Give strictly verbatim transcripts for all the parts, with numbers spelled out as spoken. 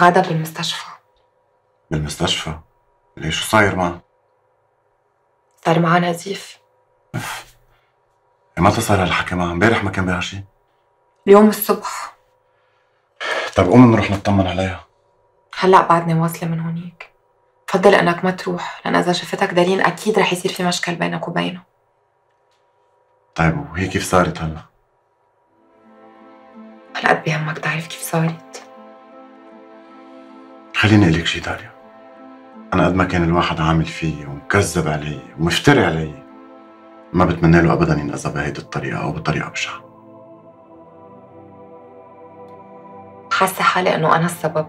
غادة بالمستشفى. بالمستشفى؟ ليش شو صاير معها؟ صار معها نزيف. اف متى صار هالحكي معها؟ امبارح ما كان بها شيء؟ اليوم الصبح. طيب قوم نروح نطمن عليها. هلأ بعدني واصلة من هونيك. بفضل انك ما تروح، لان اذا شفتك دارين اكيد رح يصير في مشكل بينك وبينه. طيب وهي كيف صارت هلا؟ هالقد بهمك تعرف كيف صارت؟ خليني اقول لك شيء داليا، انا قد ما كان الواحد عامل فيي ومكذب علي ومفتري علي، ما بتمنى له ابدا ينأذى بهيدي الطريقه او بطريقه بشعه. حاسه حالي انه انا السبب،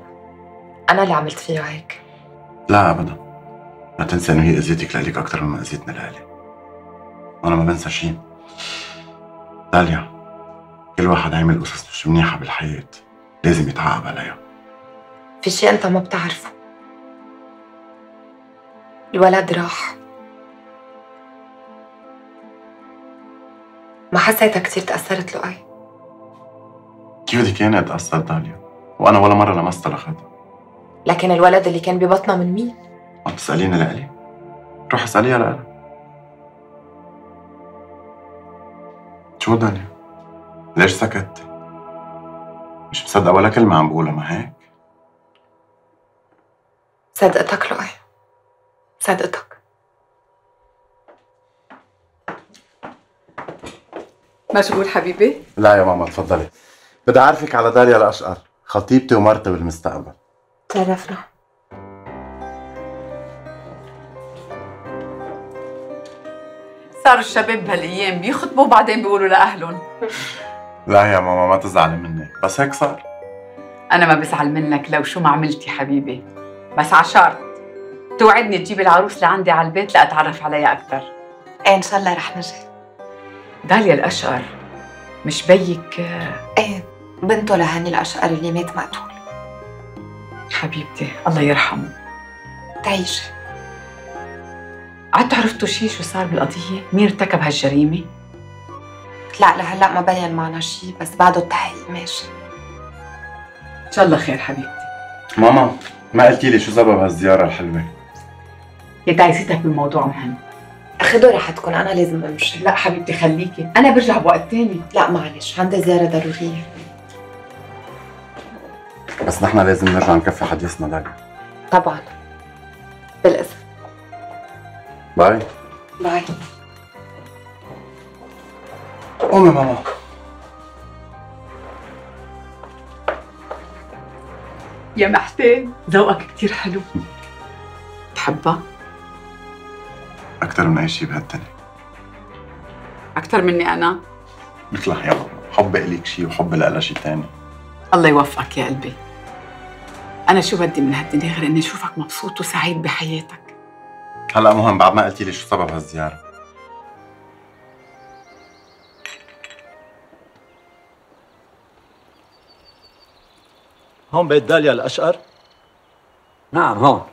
انا اللي عملت فيها هيك. لا ابدا، ما تنسى انه هي اذيتك لإلك اكثر مما اذيتنا لإلي. وانا ما بنسى شيء داليا، كل واحد عمل قصص مش منيحه بالحياه لازم يتعاقب عليها. في شيء انت ما بتعرفه، الولد راح. ما حسيتك كثير تأثرت له اي؟ كيف بدك اياني اتأثر داليا؟ وانا ولا مره لمست لخدها. لكن الولد اللي كان ببطنها من مين؟ عم تسأليني لإلي؟ روح اسأليها لإلها. شو داليا؟ ليش سكتتي؟ مش مصدقة ولا كلمة عم بقولها ما هيك؟ صدقتك لؤي، صدقتك. مشغول حبيبي؟ لا يا ماما تفضلي، بدي أعرفك على داليا الأشقر، خطيبتي ومرتي بالمستقبل. تشرفنا. صاروا الشباب بهالايام بيخطبوا وبعدين بيقولوا لاهلهم. لا يا ماما ما تزعلي مني، بس هيك صار. انا ما بزعل منك لو شو ما عملتي حبيبي، بس على شرط توعدني تجيبي العروس لعندي على البيت لاتعرف عليها اكثر. ايه ان شاء الله رح نجي. داليا الاشقر مش بيك؟ ايه بنته لهاني الاشقر اللي مات مقتول. حبيبتي الله يرحمه. تعيشي. عدتوا عرفتوا شيء شو صار بالقضية؟ مين ارتكب هالجريمة؟ لا لهلا ما بين معنا شيء، بس بعده التحقيق ماشي. ان شاء الله خير حبيبتي. ماما ما قلتي لي شو سبب هالزيارة الحلوة؟ يا تعيسيتك بالموضوع مهم. خدوا راحتكم، انا لازم امشي. لا حبيبتي خليكي، انا برجع بوقت تاني. لا معلش عندي زيارة ضرورية. بس نحن لازم نرجع نكفي حديثنا داليا. طبعا بالإذن. باي باي. قومي ماما. يا محتين ذوقك كتير حلو. بتحبها؟ أكثر من أي شيء بهالدنيا. أكثر مني أنا؟ مثلها يا ماما، حب إليك شيء وحب لها شيء ثاني. الله يوفقك يا قلبي. أنا شو بدي من هالدنيا غير إني أشوفك مبسوط وسعيد بحياتك. هلا مهم بعد ما قلتي لي شو سبب هالزيارة. هون بيت داليا الأشقر؟ نعم هون.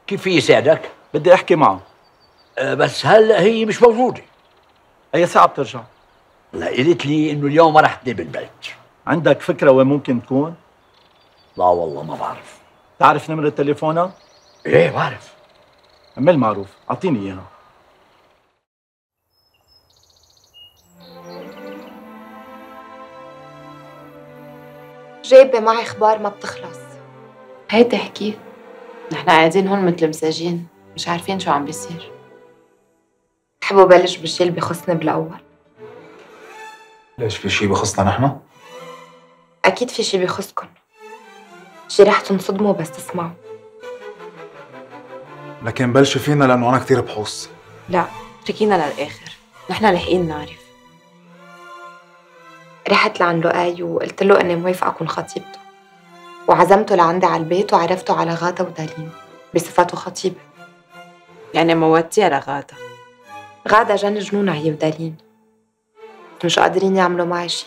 كيف في يساعدك؟ بدي أحكي معه. أه بس هلا هي مش موجودة. أي ساعة بترجع؟ لا قالت لي إنه اليوم ما رح تنام بالبيت. عندك فكرة وين ممكن تكون؟ لا والله ما بعرف. تعرف نمرة تليفونها؟ إيه بعرف. عمل معروف، أعطيني إياها. جايبة معي اخبار ما بتخلص. هيدا تحكي، نحن قاعدين هون مثل مساجين مش عارفين شو عم بيصير. بحبوا بلش بالشي اللي بخصني بالاول. ليش في شي بخصنا نحن؟ اكيد في شي بخصكن، شي رح تنصدموا بس تسمعوا. لكن بلشوا فينا لانه انا كثير بحوص. لا اتركينا للاخر، نحن لاحقين نعرف. رحت لعند لؤي وقلت له اني موافقه اكون خطيبته، وعزمته لعندي على البيت وعرفته على غادة ودالين بصفته خطيبه. يعني موتيها لغادة؟ غادة جن جنونها هي ودالين، مش قادرين يعملوا معي شي.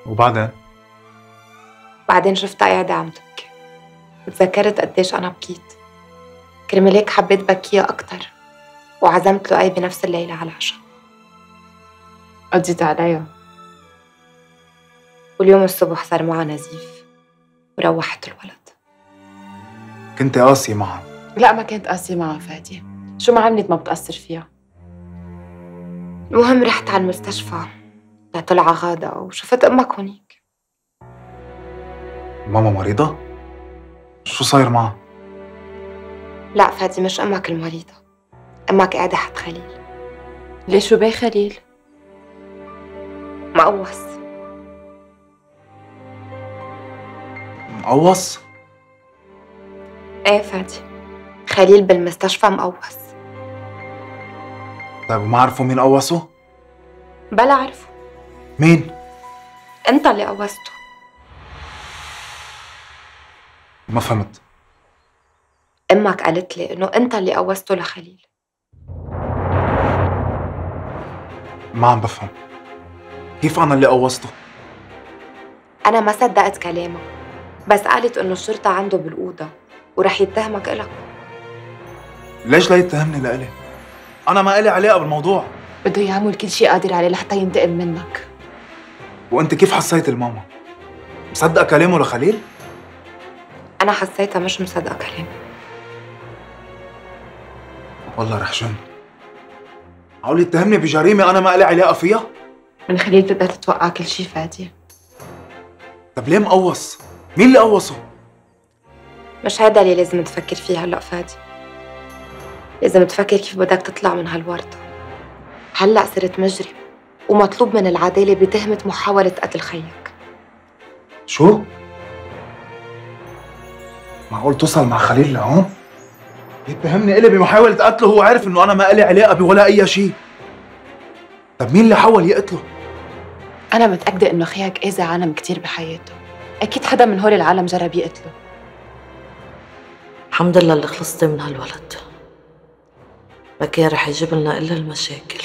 وبعدين؟ بعدين شفتها قاعدة عم تبكي، وتذكرت قديش أنا بكيت. كرمال هيك حبيت بكيها أكتر، وعزمت لؤي بنفس الليلة على العشاء. قضيت عليها؟ واليوم الصبح صار معها نزيف. وروحت الولد. كنت قاسي معها. لا ما كنت قاسية معها فادي، شو ما عملت ما بتأثر فيها. المهم رحت على المستشفى لطلع غادة وشفت أمك هونيك. ماما مريضة؟ شو صاير معها؟ لا فادي مش أمك المريضة، أمك قاعدة حد خليل. ليش شو بيه خليل؟ مقوص. مقوص؟ ايه فادي، خليل بالمستشفى مقوص. طيب وما عرفوا مين قوصه؟ بلا عرفوا. مين؟ انت اللي قوصته. ما فهمت. امك قالت لي انه انت اللي قوصته لخليل. ما عم بفهم، كيف أنا اللي قوصته؟ انا ما صدقت كلامها، بس قالت انه الشرطة عنده بالأوضة ورح يتهمك إلك. ليش لا يتهمني لإلي؟ أنا ما إلي علاقة بالموضوع. بده يعمل كل شيء قادر عليه لحتى ينتقم منك. وأنت كيف حسيت الماما؟ مصدقة كلامه لخليل؟ أنا حسيتها مش مصدقة كلامه. والله رح جن. معقول يتهمني بجريمة أنا ما إلي علاقة فيها؟ من خليل بتقدر تتوقع كل شيء فادي. طب ليه مقوص؟ مين اللي قوصه؟ مش هيدا اللي لازم تفكر فيه هلأ فادي. لازم تفكر كيف بدك تطلع من هالورطة. هلأ صرت مجرم ومطلوب من العدالة بتهمة محاولة قتل خيك. شو؟ معقول توصل مع خليل لهون؟ يتهمني إلي بمحاولة قتله وهو عارف إنه أنا ما إلي علاقة بولا أي شيء. طب مين اللي حاول يقتله؟ أنا متأكدة إنه خيك أذى عالم كتير بحياته. أكيد حدا من هول العالم جرب يقتله. الحمد لله اللي خلصتي من هالولد، ما كان رح يجيب لنا إلا المشاكل.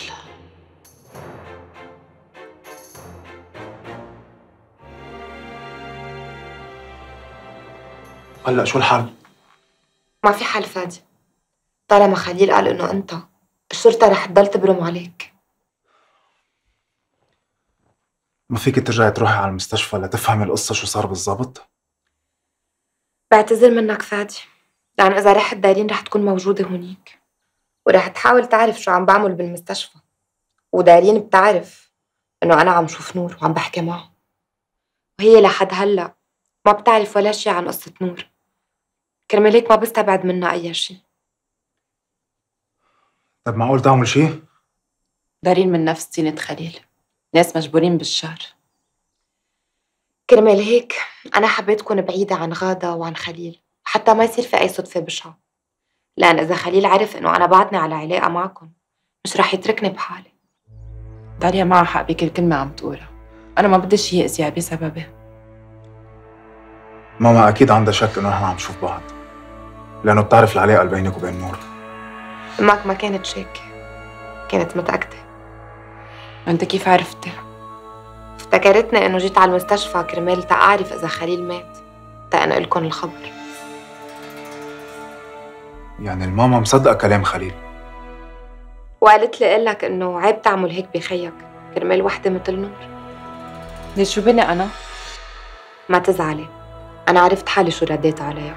هلأ شو الحل؟ ما في حل فادي، طالما خليل قال إنه أنت، الشرطة رح تضل تبرم عليك. ما فيك ترجعي تروحي على المستشفى لتفهمي القصة شو صار بالضبط؟ بعتذر منك فادي، لأن إذا رحت دارين رح تكون موجودة هونيك ورح تحاول تعرف شو عم بعمل بالمستشفى، ودارين بتعرف إنه أنا عم شوف نور وعم بحكي معه، وهي لحد هلأ ما بتعرف ولا شي عن قصة نور. كرمال هيك ما بستبعد منها أي شي. طب معقول تعمل شي؟ دارين من نفس طينة خليل، ناس مجبورين بالشر. كرمال هيك أنا حبيت كون بعيدة عن غادة وعن خليل حتى ما يصير في أي صدفة بشعة، لأن إذا خليل عرف إنه أنا بعدني على علاقة معكم مش رح يتركني بحالي. داليا معها حق بكل كلمة عم تقولها، أنا ما بدي شي يأذيها بسببي. ماما أكيد عندها شك إنه نحن عم نشوف بعض، لأنه بتعرف العلاقة اللي بينك وبين نور. أمك ما كانت شاكة، كانت متأكدة. أنت كيف عرفتي؟ افتكرتني إنه جيت على المستشفى كرمال تعرف إذا خليل مات تأنقل لكم الخبر. يعني الماما مصدقة كلام خليل؟ وقالت لي قلك إنه عيب تعمل هيك بخيك كرمال وحدة مثل نور. ليش شو بني أنا؟ ما تزعلي، أنا عرفت حالي شو رديت عليها.